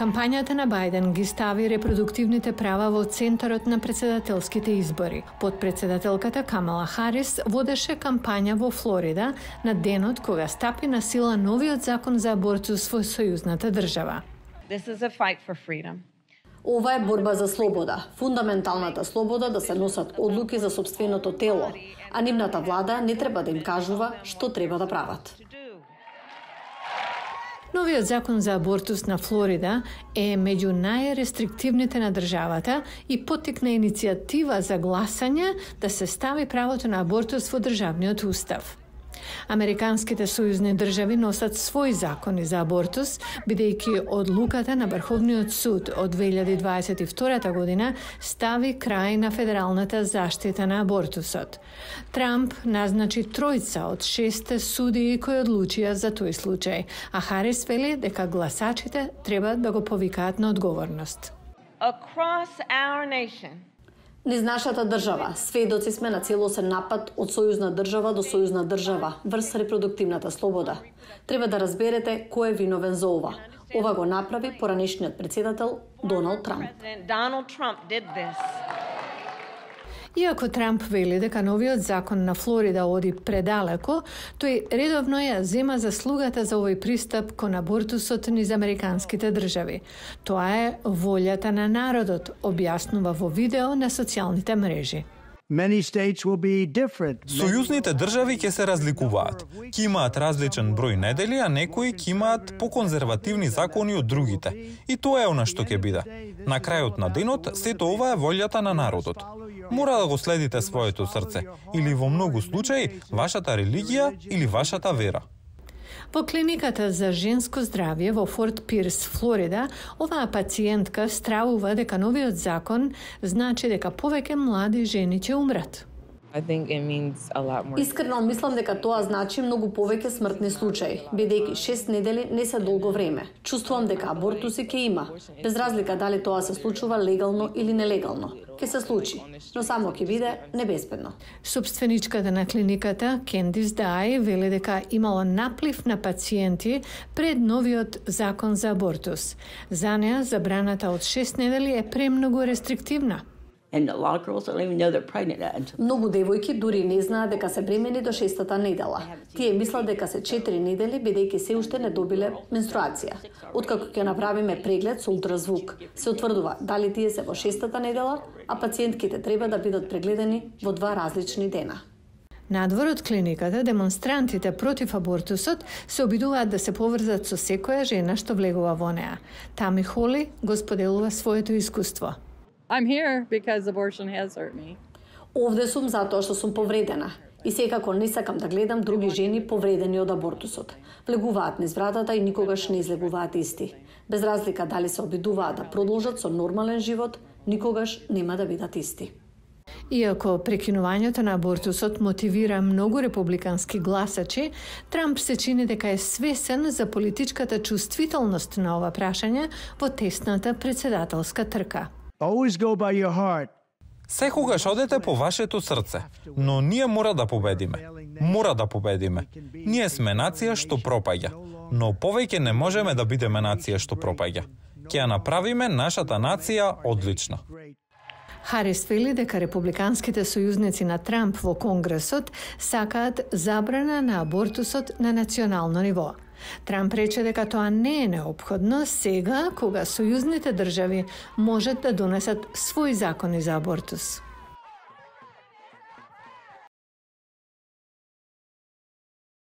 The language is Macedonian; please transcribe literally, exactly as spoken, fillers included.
Кампањата на Бајден ги стави репродуктивните права во центарот на председателските избори. Подпредседателката Камала Харис водеше кампања во Флорида на денот кога стапи на сила новиот закон за абортус во сојузната држава. This is a fight for freedom. Ова е борба за слобода, фундаменталната слобода да се носат одлуки за сопственото тело, а нивната влада не треба да им кажува што треба да прават. Новиот закон за абортус на Флорида е меѓу најрестриктивните на државата и поттикна иницијатива за гласање да се стави правото на абортус во државниот устав. Американските сојузни држави носат своји закони за абортус, бидејќи одлуката на Врховниот суд од две илјади дваесет и втора година стави крај на федералната заштита на абортусот. Трамп назначи тројца од шесте судии кои одлучија за тој случај, а Харис вели дека гласачите треба да го повикаат на одговорност. Across our nation, Низ нашата држава, сведоци сме на целосен напад од сојузна држава до сојузна држава врз репродуктивната слобода. Треба да разберете кој е виновен за ова. Ова го направи поранешниот председател Доналд Трамп. President Donald Trump did this. Иако Трамп вели дека новиот закон на Флорида оди предалеко, тој редовно ја зема заслугата за овој пристап кон абортусот низ американските држави. Тоа е волјата на народот, објаснува во видео на социјалните мрежи. Many states will be different. Сојузните држави ќе се разликуваат. Ќе имаат различен број недели, а некои ќе имаат поконзервативни закони од другите. И тоа е она што ќе биде. На крајот на денот, сето ова е волјата на народот. Мора да го следите своето срце, или во многу случаи, вашата религија или вашата вера. Во клиниката за женско здравје во Форт Пирс, Флорида, оваа пациентка стравува дека новиот закон значи дека повеќе млади жени ќе умрат. I think it means a lot more. Искрено мислам дека тоа значи многу повеќе смртни случаи, бидејќи шест недели не се долго време. Чувствувам дека абортуси ќе има, без разлика дали тоа се случува легално или нелегално. Ќе се случи, но само ќе биде небезбедно. Собственичката на клиниката, Кендис Дай, вели дека имало наплив на пациенти пред новиот закон за абортус. За неа забраната од шест недели е премногу рестриктивна. And a lot of girls don't even know they're pregnant. Многу девојки дури не знаат дека се бремени до шестата недела. Тие мислат дека се четири недели бидејќи се уште не добиле менструација. Откако ќе направиме преглед со ултразвук, се утврдува дали тие се во шестата недела, а пациентките треба да бидат прегледани во два различни дена. Надвор од клиниката, демонстрантите против абортусот се обидуваат да се поврзат со секоја жена што влегува во неа. Тами Холи го споделува своето искуство. I'm here because abortion has hurt me. Овде сум затоа што сум повредена и секако не сакам да гледам други жени повредени од абортусот. Влегуваат низ вратата и никогаш не излегуваат исти. Без разлика дали се обидуваат да продолжат со нормален живот, никогаш нема да бидат исти. Иако прекинувањето на абортусот мотивира многу републикански гласачи, Трамп се чини дека е свесен за политичката чувствителност на ова прашање во тесната председателска трка. Always go by your heart. Секогаш одете по вашето срце, но ние мора да победиме. Мора да победиме. Ние сме нација што пропаѓа, но повеќе не можеме да бидеме нација што пропаѓа. Ќе ја направиме нашата нација одлична. Харис вели дека републиканските сојузници на Трамп во Конгресот сакаат забрана на абортусот на национално ниво. Трамп рече дека тоа не е неопходно сега кога сојузните држави можат да донесат своји закони за абортус.